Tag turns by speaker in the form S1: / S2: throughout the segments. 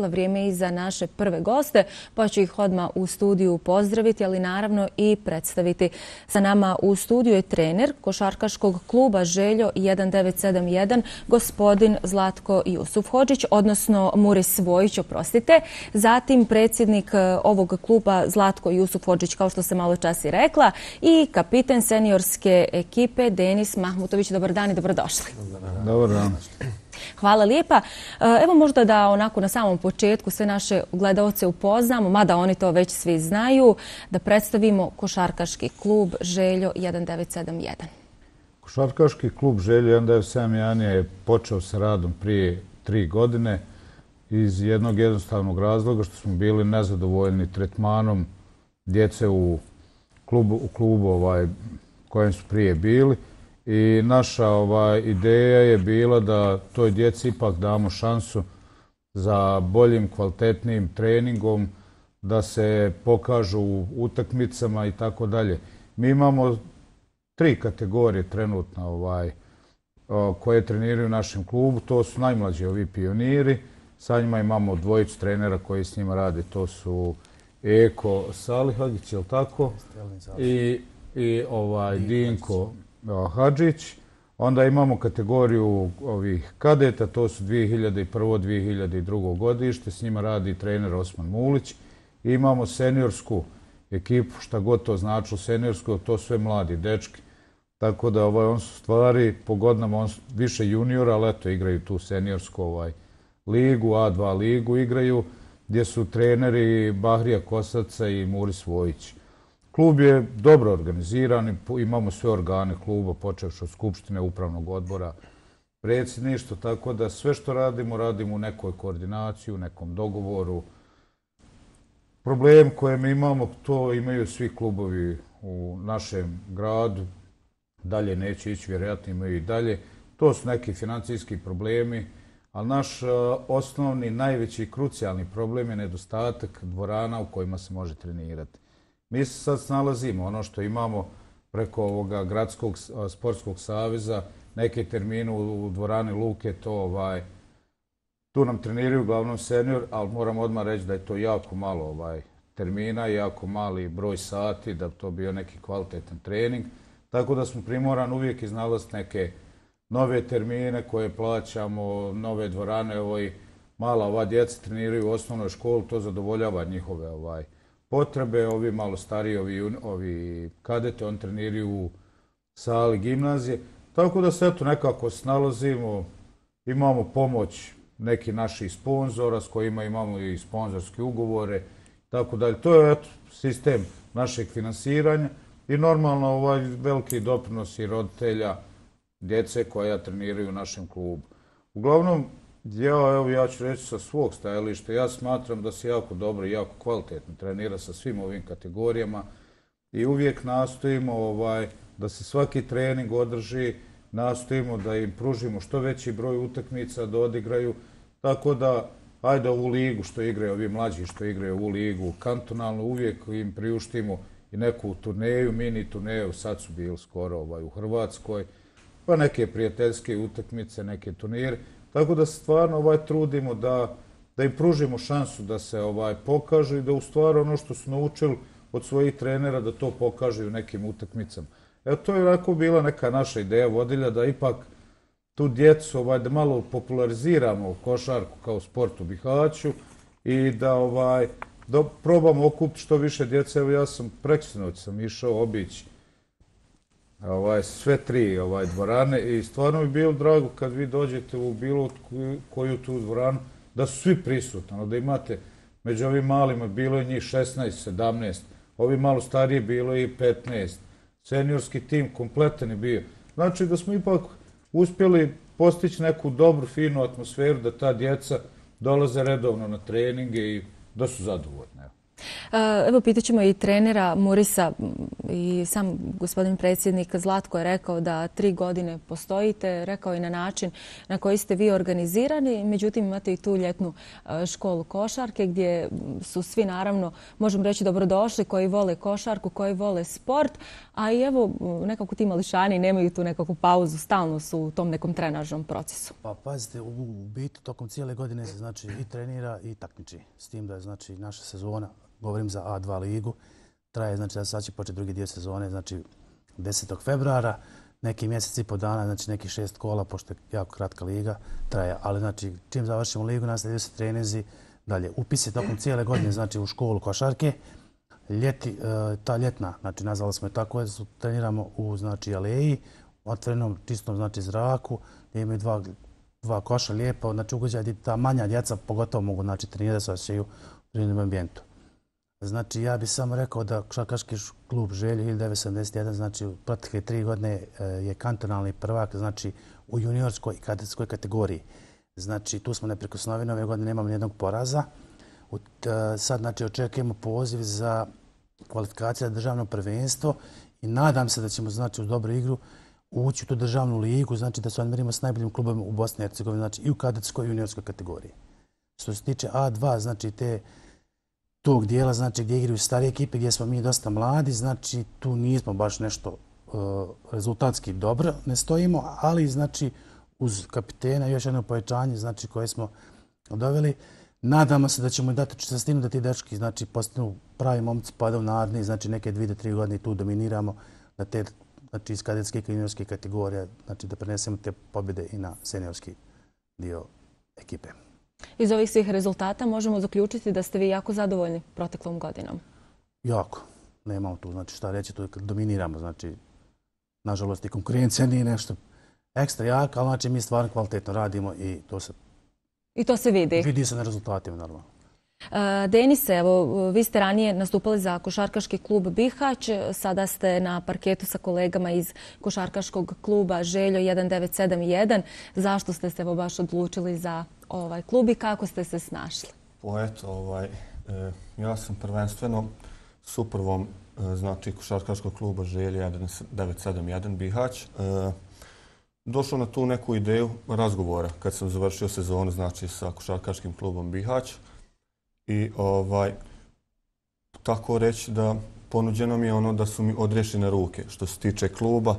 S1: Vrijeme je i za naše prve goste, pa ću ih odmah u studiju pozdraviti, ali naravno i predstaviti. Sa nama u studiju je trener košarkaškog kluba Željo 1971, gospodin Zlatko Jusufhodžić, odnosno Muris Vojić, oprostite. Zatim predsjednik ovog kluba Zlatko Jusufhodžić, kao što sam malo čas i rekla, i kapiten seniorske ekipe Denis Mahmutović. Dobar dan i dobrodošli.
S2: Dobar dan.
S1: Hvala lijepa. Evo možda da onako na samom početku sve naše gledaoce upoznamo, mada oni to već svi znaju, da predstavimo košarkaški klub Željo 1971.
S2: Košarkaški klub Željo 1971 je počeo sa radom prije 3 godine iz jednog jednostavnog razloga što smo bili nezadovoljni tretmanom djece u klubu kojem su prije bili. I naša ideja je bila da toj djeci ipak damo šansu za boljim, kvalitetnijim treningom, da se pokažu u utakmicama i tako dalje. Mi imamo 3 kategorije trenutno koje treniraju u našem klubu. To su najmlađi ovi pioniri. Sa njima imamo 2 trenera koji s njima rade. To su Eko Salihagić, je li tako? I Dinko Hadžić. Onda imamo kategoriju ovih kadeta, to su 2001. 2002. godište, s njima radi trener Osman Mulić. I imamo seniorsku ekipu, šta god to značilo seniorsku, to sve mladi dečki. Tako da on su stvari po godinama, on su više juniora, ali eto igraju tu seniorsku ligu, A2 ligu igraju, gdje su treneri Bahrija Kosaca i Muris Vojić. Klub je dobro organiziran, imamo sve organe kluba, počevši od skupštine, upravnog odbora, predsjedništva, tako da sve što radimo, radimo u nekoj koordinaciji, u nekom dogovoru. Problem koje mi imamo, to imaju svi klubovi u našem gradu, dalje neće ići, vjerojatno imaju i dalje. To su neki financijski problemi, ali naš osnovni, najveći, krucijalni problem je nedostatak dvorana u kojima se može trenirati. Mi se sad snalazimo, ono što imamo preko ovoga Gradskog sportskog saveza, neke termine u dvorani Luke, tu nam treniraju uglavnom senior, ali moram odmah reći da je to jako malo termina, jako mali broj sati, da bi to bio neki kvalitetan trening. Tako da smo primorani uvijek iznalaziti neke nove termine koje plaćamo, nove dvorane. Mala ova djeca treniraju u osnovnoj školi, to zadovoljava njihove potrebe. Ovi malo stariji, ovi kadete, on treniraju u sali gimnazije. Tako da se eto nekako snalazimo, imamo pomoć nekih naših sponzora s kojima imamo i sponzorske ugovore. Tako dalje. To je sistem našeg finansiranja i normalno veliki doprinos i roditelja, djece koja treniraju u našem klubu. Uglavnom, ja ću reći sa svog stajališta, ja smatram da se jako dobro i jako kvalitetno trenira sa svim ovim kategorijama i uvijek nastojimo da se svaki trening održi, nastojimo da im pružimo što veći broj utakmica da odigraju, tako da ajde ovu ligu što igraju, ovi mlađi što igraju ovu ligu kantonalno, uvijek im priuštimo i neku turneju, mini turneju, sad su bili skoro u Hrvatskoj, pa neke prijateljske utakmice, neke turnire. Tako da se stvarno trudimo da im pružimo šansu da se pokažu i da u stvari ono što su naučili od svojih trenera da to pokažu u nekim utakmicama. Evo to je bila neka naša ideja vodilja da ipak tu djecu da malo populariziramo košarku kao sport u Bihaću i da probamo okupiti što više djece. Evo ja sam preksinoć sam išao obići sve 3 dvorane i stvarno bi bilo drago kad vi dođete u bilo koju tu dvoranu da su svi prisutni, da imate među ovim malima bilo je njih 16, 17, ovi malo stariji bilo je i 15, seniorski tim kompletan je bio. Znači da smo ipak uspjeli postići neku dobru, finu atmosferu da ta djeca dolaze redovno na treninge i da su zadovoljne.
S1: Evo, pitat ćemo i trenera Murisa i sam gospodin predsjednik Zlatko je rekao da 3 godine postojite, rekao i na način na koji ste vi organizirani, međutim imate i tu ljetnu školu košarke gdje su svi naravno, možemo reći, dobrodošli, koji vole košarku, koji vole sport, a i evo nekako ti mališani nemaju tu nekakvu pauzu, stalno su u tom nekom trenažnom procesu.
S3: Pa pazite, u biti tokom cijele godine se znači i trenira i takmiči, s tim da je znači naša sezona, govorim za A2 ligu, traje, znači sad će početi drugi dio sezone, znači 10. februara, neki mjesec i po dana, znači neki 6 kola, pošto je jako kratka liga, traje, ali znači čim završimo ligu, nastavljaju se treninzi, dalje upisi tokom cijele godine, znači u školu košarke, ljeti, ta ljetna, znači nazvali smo je tako, treniramo u znači aleji, otvorenom čistom znači zraku, gdje imaju dva koša lijepa, znači ugođaj gdje ta manja djeca pogotovo mogu znači trenirati da se osjećaju u prirodnom ambijentu. Znači, ja bih samo rekao da košarkaški klub Željo 1971, znači u protekle 3 godine je kantonalni prvak, znači u juniorskoj i kadetskoj kategoriji. Znači, tu smo neprikosnoveni, ove godine nemamo nijednog poraza. Sad, znači, očekujemo poziv za kvalifikacije za državno prvenstvo i nadam se da ćemo, znači, uz dobru igru ući u tu državnu ligu, znači da se odmerimo s najboljim klubom u Bosni i Hercegovini, znači i u kadetskoj i juniorskoj kategoriji. Što se tiče A2, znači tog dijela, znači gdje igraju starije ekipe, gdje smo mi dosta mladi, znači tu nismo baš nešto rezultatski dobro, ne stojimo, ali znači uz kapitena još jedno povećanje, znači koje smo doveli. Nadamo se da ćemo dati čestitinu da ti dečki znači postanu pravi momci, padaju naredni, znači neke 2 do 3 godine tu dominiramo, da te znači iz kadetske i juniorske kategorije, znači da prenesemo te pobjede i na seniorski dio ekipe.
S1: Iz ovih svih rezultata možemo zaključiti da ste vi jako zadovoljni proteklom godinom.
S3: Jako. Nemamo tu znači šta reći, tu dominiramo. Znači, nažalost i konkurencija nije nešto ekstra jaka, ali znači mi stvarno kvalitetno radimo i
S1: to se vidi.
S3: Vidi se na rezultatima, naravno.
S1: Denise, evo, vi ste ranije nastupali za košarkaški klub Bihać, sada ste na parketu sa kolegama iz košarkaškog kluba Željo 1971. Zašto ste se baš odlučili za ovaj klub i kako ste se snašli?
S4: Eto, ja sam prvenstveno s upravom znači košarkaškog kluba Željo 1971 Bihać došao na tu neku ideju razgovora kad sam završio sezonu znači sa košarkaškim klubom Bihać. I tako reći da ponuđeno mi je ono da su mi odriješene ruke što se tiče kluba.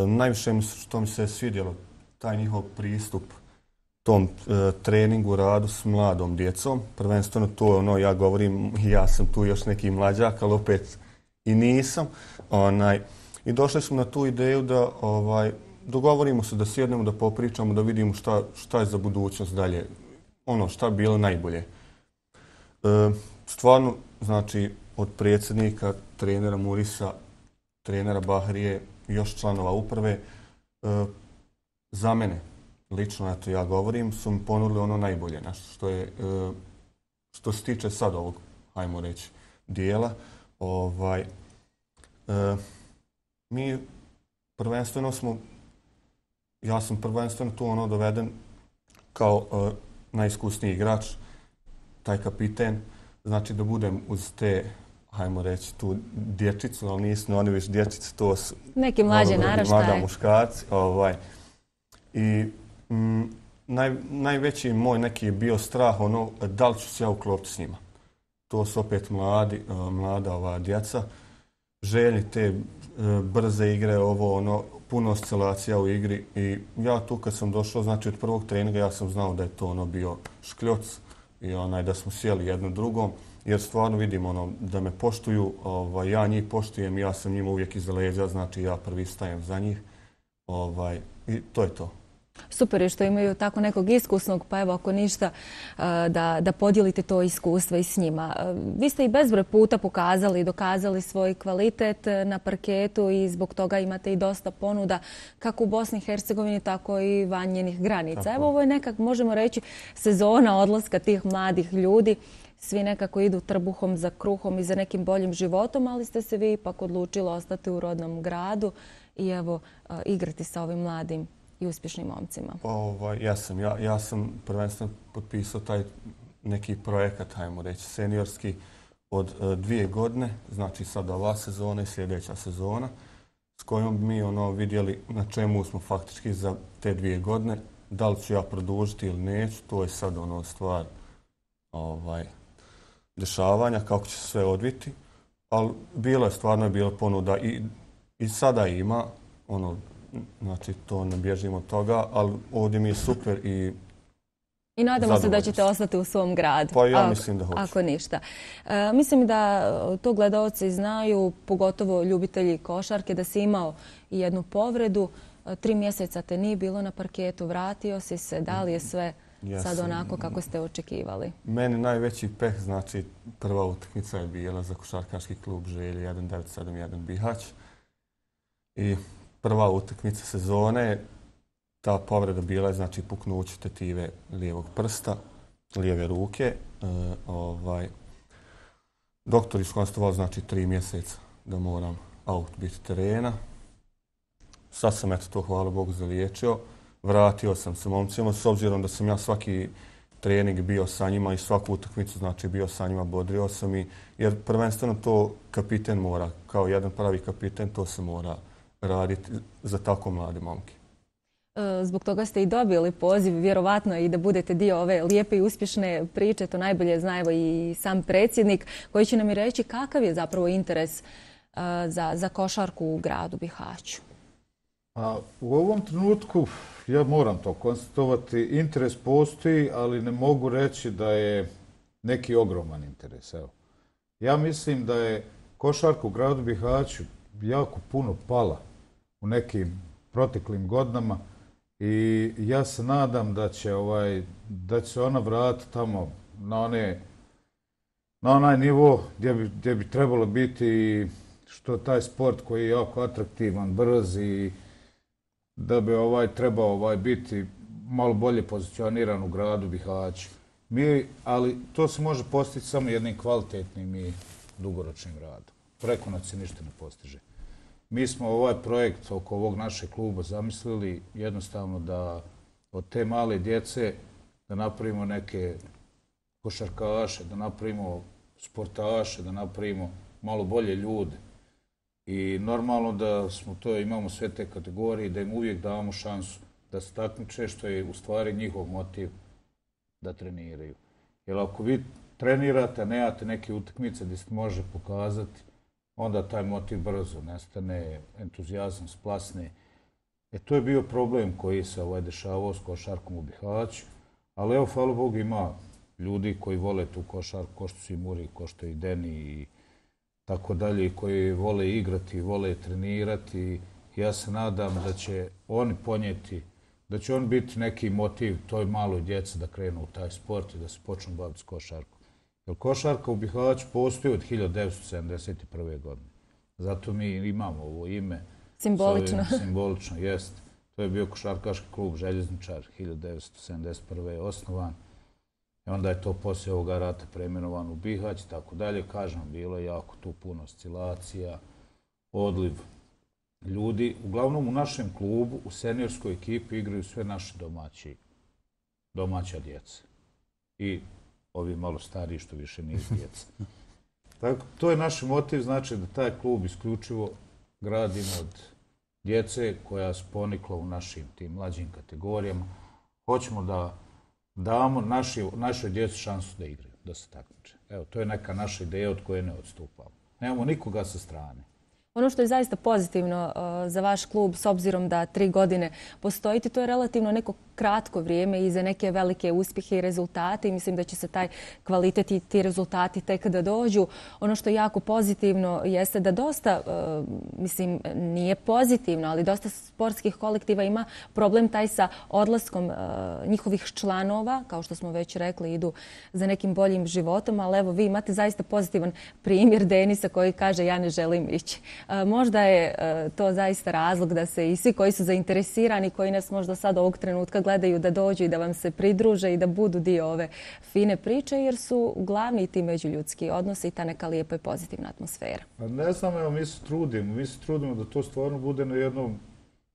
S4: Najviše što mi se svidjelo taj njihov pristup tom treningu, radu s mladom djecom. Prvenstveno to je ono, ja govorim, ja sam tu još neki mlađak, ali opet i nisam. I došli smo na tu ideju da dogovorimo se, da sjednemo, da popričamo, da vidimo šta je za budućnost dalje. Ono šta bi bilo najbolje. Stvarno, znači, od predsjednika, trenera Murisa, trenera Bahrije i još članova uprave, za mene, lično, eto ja govorim, su mi ponudili ono najbolje, što se tiče sad ovog, hajmo reći, dijela. Mi prvenstveno ja sam prvenstveno tu ono doveden kao najiskusniji igrač, taj kapiten, znači da budem uz te, hajmo reći, tu dječicu, ali nisu oni već dječice, to su
S1: neki mlađe naraštaje.
S4: Mlada muškarci. I najveći moj neki je bio strah, ono, da li ću se ja uklopiti s njima. To su opet mlada djeca, željni te brze igre, puno oscilacija u igri. I ja tu kad sam došao, znači od prvog treninga ja sam znao da je to bio škljoc i da smo sjeli jedno drugom, jer stvarno vidim da me poštuju, ja njih poštujem, ja sam njima uvijek iza leđa, znači ja prvi stajem za njih i to je to.
S1: Super je što imaju tako nekog iskusnog, pa evo ako ništa da podijelite to iskustvo i s njima. Vi ste i bezbroj puta pokazali i dokazali svoj kvalitet na parketu i zbog toga imate i dosta ponuda kako u Bosni i Hercegovini, tako i van njenih granica. Evo ovo je nekak, možemo reći, sezona odlaska tih mladih ljudi. Svi nekako idu trbuhom za kruhom i za nekim boljim životom, ali ste se vi ipak odlučili ostati u rodnom gradu i evo igrati sa ovim mladim i uspješnim momcima.
S4: Ja sam prvenstveno potpisao neki projekat, hajmo reći, seniorski od 2 godine, znači sad ova sezona i sljedeća sezona, s kojom bi mi vidjeli na čemu smo faktički za te 2 godine, da li ću ja produžiti ili neću, to je sad stvar dešavanja, kako će se sve odviti. Ali stvarno je bila ponuda i sada ima, znači to ne bježimo od toga, ali ovdje mi je super i
S1: nadamo se da ćete ostati u svom gradu.
S4: Pa ja mislim da hoću.
S1: Ako ništa. Mislim da to gledaoci znaju, pogotovo ljubitelji košarke, da si imao i jednu povredu. 3 mjeseca te nije bilo na parketu, vratio si se, da li je sve sad onako kako ste očekivali?
S4: Meni najveći peh, znači prva utakmica je bila za košarkaški klub Želje 1971 Bihać. I prva utakmica sezone, ta povreda bila je znači puknuće tetive lijevog prsta, lijeve ruke. Doktor iskonstatovao znači 3 mjeseca da moram out biti terena. Sad sam to, hvala Bogu, zaliječio. Vratio sam se momcima, s obzirom da sam ja svaki trening bio sa njima i svaku utakmicu znači bio sa njima, bodrio sam jer prvenstveno to kapiten mora, kao jedan pravi kapiten, to se mora raditi za tako mlade momke.
S1: Zbog toga ste i dobili poziv, vjerovatno i da budete dio ove lijepe i uspješne priče, to najbolje zna i sam predsjednik, koji će nam i reći kakav je zapravo interes za košarku u gradu Bihaću.
S2: U ovom trenutku, ja moram to konstatovati, interes postoji, ali ne mogu reći da je neki ogroman interes. Evo. Ja mislim da je košarka u gradu Bihaću jako puno pala u nekim proteklim godinama i ja se nadam da će se ona vratiti tamo na onaj nivo gdje bi trebalo biti, što taj sport koji je jako atraktivan, brz i da bi trebao biti malo bolje pozicioniran u gradu Bihaću. Ali to se može postići samo jednim kvalitetnim i dugoročnim radom. Preko noći se ništa ne postiže. Mi smo ovaj projekt oko ovog našeg kluba zamislili jednostavno da od te male djece da napravimo neke košarkaše, da napravimo sportaše, da napravimo malo bolje ljude. I normalno da imamo sve te kategorije i da im uvijek damo šansu da se takmiče, što je u stvari njihov motiv da treniraju. Jer ako vi trenirate, nemate neke utakmice gdje se može pokazati, onda taj motiv brzo nestane, entuzijazam splasne. To je bio problem koji se dešavao s košarkom u Bihaću, ali evo, hvala Bogu, ima ljudi koji vole tu košarku, ko što su i Muri, ko što i Deni i tako dalje, koji vole igrati, vole trenirati. Ja se nadam da će oni ponijeti, da će on biti neki motiv toj maloj djeci da krenu u taj sport i da se počnu baviti s košarkom. Jer košarka u Bihaću postoji od 1971. godine. Zato mi imamo ovo ime.
S1: Simbolično.
S2: Simbolično, jest. To je bio košarkaški klub Željezničar, 1971. osnovan. I onda je to poslije ovoga rata preimenovan u Bihać i tako dalje. Kažem, bilo je jako tu puno oscilacija, odliv ljudi. Uglavnom u našem klubu, u seniorskoj ekipi igraju sve naši domaća djeca. I ovi malo stariji što više nije djeca. Tako, to je naš motiv, znači da taj klub isključivo gradimo od djece koja su ponikla u našim tim mlađim kategorijama. Hoćemo da damo našoj djeci šansu da igraju, da se takmiče. Evo, to je neka naša ideja od koje ne odstupamo. Nemamo nikoga sa strane.
S1: Ono što je zaista pozitivno za vaš klub, s obzirom da 3 godine postojite, to je relativno neko kratko vrijeme i za neke velike uspjehe i rezultate i mislim da će se taj kvalitet i ti rezultati tek da dođu. Ono što je jako pozitivno jeste da dosta, mislim, nije pozitivno, ali dosta sportskih kolektiva ima problem taj sa odlaskom njihovih članova, kao što smo već rekli, idu za nekim boljim životom, ali evo, vi imate zaista pozitivan primjer Denisa koji kaže ja ne želim ići. Možda je to zaista razlog da se i svi koji su zainteresirani, koji nas možda sad ovog trenutka gledaju, da dođu i da vam se pridruže i da budu dio ove fine priče, jer su glavni ti međuljudski odnosi i ta neka lijepa i pozitivna atmosfera.
S2: Ne znam, evo, mi se trudimo da to stvarno bude na jednom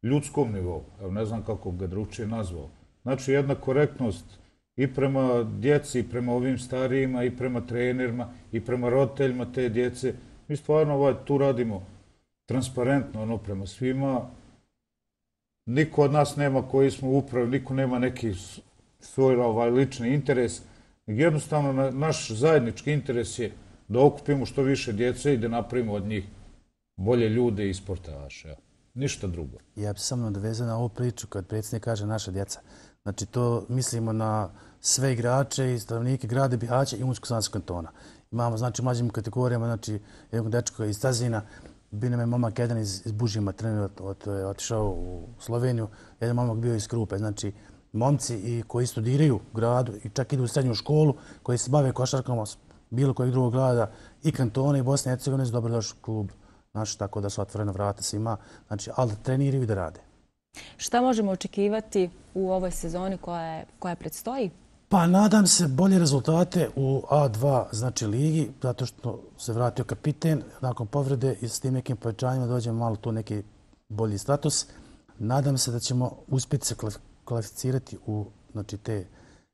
S2: ljudskom nivou. Evo, ne znam kako ga drugčije nazvao. Znači, jedna korektnost i prema djeci, i prema ovim starijima, i prema trenerima, i prema roditeljima te djece. Mi stvarno tu radimo transparentno prema svima. Niko od nas nema koji smo u upravi, niko nema neki svoj lični interes. Jednostavno, naš zajednički interes je da okupimo što više djece i da napravimo od njih bolje ljude i sportaše. Ništa drugo.
S3: Ja bih samo nadovezao na ovu priču kad predsjednik kaže naša djeca. Znači, to mislimo na sve igrače i stanovnike grada Bihaća i Unsko-Sanskog kantona. Imamo, znači, u mlađim kategorijama, znači, jednog dečka iz Tazina, bio nam je momak jedan iz Bužima, trener otišao u Sloveniju, jedan momak bio iz Krupe. Znači, momci koji studiraju u gradu i čak idu u srednju školu, koji se bave košarkom bilo kojeg drugog grada i kantona i Bosne i Hercegovine su dobrodošli u klub naš, tako da su otvorena vrata svima, znači, ali da treniraju i da rade.
S1: Šta možemo očekivati u ovoj sezoni koja predstoji?
S3: Pa nadam se bolje rezultate u A2, znači ligi, zato što se vratio kapiten nakon povrede i s tim nekim povećanjima dođemo malo tu neki bolji status. Nadam se da ćemo uspjeti se kvalificirati u te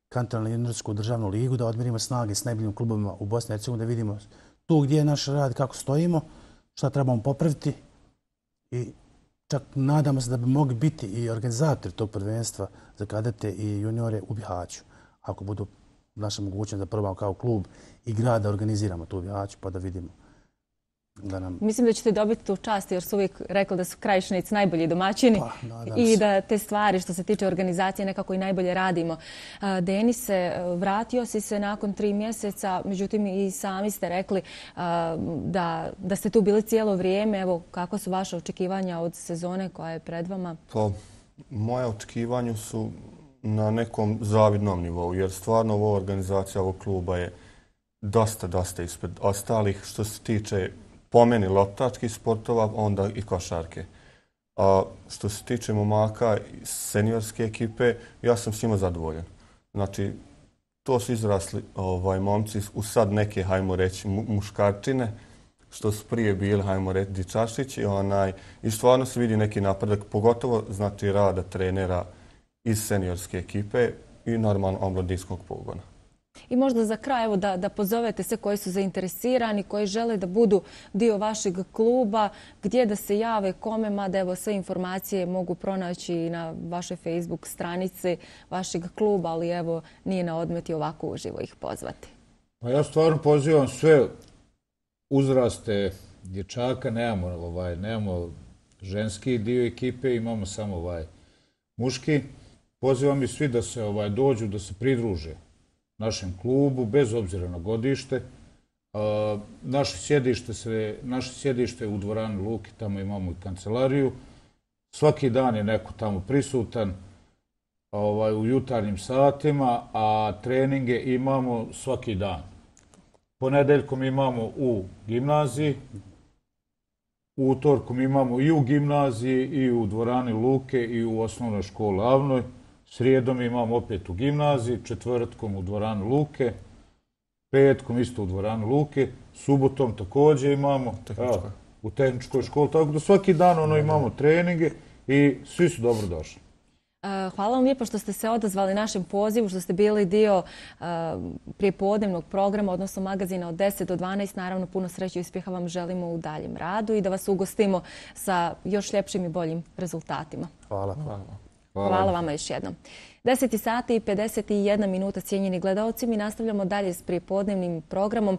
S3: kantonalnu juniorsku državnu ligu, da odmirimo snage s najboljim klubovima u Bosni i Hercegovini, da vidimo tu gdje je naš rad, kako stojimo, šta trebamo popraviti i čak nadamo se da bi mogli biti i organizatori tog prvenstva za kadete i juniore u Bihaću. Ako budu naša mogućnost da probamo kao klub i grad da organiziramo tu u Bihaću pa da vidimo.
S1: Mislim da ćete dobiti tu čast jer su uvijek rekli da su Krajišnici najbolji domaćini i da te stvari što se tiče organizacije nekako i najbolje radimo. Denise, vratio si se nakon 3 mjeseca, međutim i sami ste rekli da ste tu bili cijelo vrijeme. Evo, kako su vaše očekivanja od sezone koja je pred vama?
S4: Pa, moje očekivanja su na nekom zavidnom nivou, jer stvarno ova organizacija ovog kluba je dosta ispred ostalih što se tiče po meni loptačkih sportova, onda i košarke. A što se tiče momaka seniorske ekipe, ja sam s njima zadovoljan. Znači, to su izrasli momci u sad neke, hajmo reći, muškarčine, što su prije bili, hajmo reći, dičašići. I stvarno se vidi neki napredak, pogotovo znači rada trenera iz seniorske ekipe i normalno omladinskog pogona.
S1: I možda za kraj evo da pozovete sve koji su zainteresirani, koji žele da budu dio vašeg kluba, gdje da se jave, kome, mada evo sve informacije mogu pronaći na vašoj Facebook stranici vašeg kluba, ali evo nije na odmet i ovako uživo ih pozvati.
S2: Pa ja stvarno pozivam sve uzraste dječaka, nemamo ženski dio ekipe, imamo samo muški. Pozivam i svi da se dođu, da se pridruže našem klubu, bez obzira na godište. Naše sjedište je u dvorani Luki, tamo imamo i kancelariju. Svaki dan je neko tamo prisutan u jutarnjim satima, a treninge imamo svaki dan. Ponedeljkom imamo u gimnaziji, utorkom imamo i u gimnaziji, i u dvorani Luke, i u osnovnoj školi Avnoj. Srijedom imamo opet u gimnaziji, četvrtkom u dvorani Luke, petkom isto u dvorani Luke, subotom također imamo u tehničkoj školi. Tako da svaki dan imamo treninge i svi su dobro došli.
S1: Hvala vam lijepo što ste se odazvali našem pozivu, što ste bili dio prijepodnevnog programa, odnosno magazina od 10 do 12. Naravno, puno sreće i uspjeha vam želimo u daljem radu i da vas ugostimo sa još ljepšim i boljim rezultatima.
S3: Hvala.
S1: Hvala vama još jednom. 10 sati i 51 minuta, cijenjeni gledaoci. Mi nastavljamo dalje s prijepodnevnim programom.